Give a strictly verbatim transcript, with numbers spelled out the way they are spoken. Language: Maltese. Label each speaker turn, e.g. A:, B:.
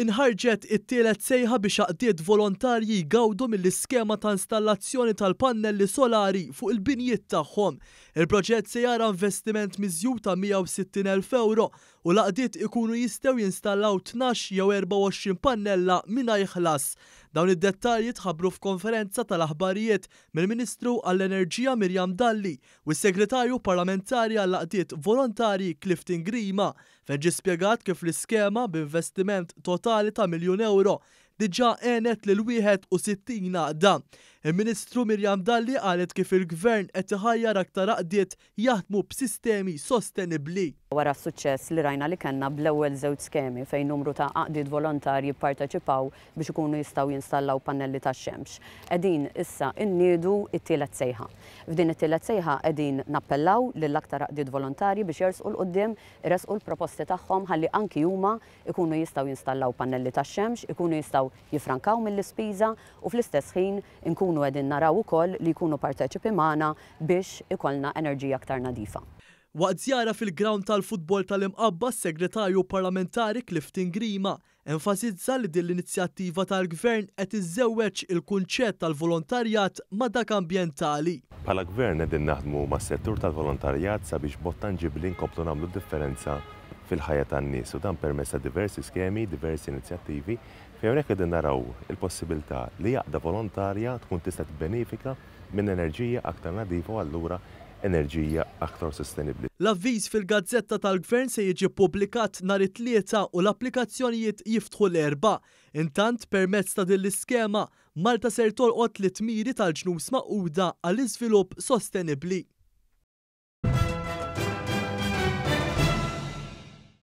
A: Inħarġet it-tielet sejħa biex għaqdiet volontarji jgawdu mill-iskema ta' installazzjoni tal-pannelli solari fuq il-binjiet tagħhom. Il-proġett se jara investiment miżjud ta' mija u sittin elf euro u l-għaqdiet ikunu jistgħu jinstallaw tnax jew erbgħa u għoxrin pannella mingħajr ħlas. Dawn id-dettalji tħabbru f'konferenza tal-aħbarijiet mill-Ministru għall-Enerġija Miriam Dalli u s-Segretarju Parlamentari għall-Għaqdiet Volontarji Clifton Grima, fejn ġie spjegat kif l-iskema b'investiment totali ta' miljun euro diġà għenet lil wieħed u sittin għaqda. Il-Ministru Miriam Dalli qalet kif il-Gvern qed iħajjar aktar għaqdiet jaħdmu b'sistemi sostenibbli.
B: Wara s-suċċess li rajna li kellna bl-ewwel żewġ skemi, fejn numru ta' għaqdiet volontarji pparteċipaw biex ikunu jistgħu jinstallaw pannelli tax-xemx, qegħdin issa inniedu it-tielet sejħa. F'din it-tielet sejħa qegħdin nappellaw lil aktar għaqdiet volontarji biex jersqu 'l quddiem, iresqu l-proposti tagħhom ħalli anki huma ikunu jistgħu jinstallaw pannelli tax-xemx, ikunu jistgħu jifrankaw mill-ispiża u fl-istess ħin inkunu qegħdin naraw ukoll li jkunu parteċipi magħna biex ikollna enerġija aktar nadifa.
A: Waqt żjara fil-ground tal-futbol tal-Imqabba, s-Segretarju Parlamentari Clifton Grima enfasizza li din l-inizjattiva tal-Gvern qed iżżewweġ il-kunċett tal-volontarjat ma' dak ambjentali.
C: Bħala gvern qegħdin naħdmu mas-settur tal-volontarjat sabiex b'mod tanġibli nkomplu nagħmlu differenza fil-ħajja tan-nies, u dan permezz ta' diversi skemi, diversi inizjattivi, fejn hawnhekk qegħdin naraw il-possibilità li għaqda volontarja tkun tista' tibbenefika minn enerġija aktar nadifa u allura enerġija aktar sostenibbli.
A: L-avviż fil-Gazzetta tal-Gvern se jiġi ppubblikat nhar it-Tlieta u l-applikazzjonijiet jiftħu l-Erbgħa. Intant, permezz ta' din l-iskema, Malta ser tolqot it-miri tal-Ġnus Magħquda għall-iżvilupp sostenibbli.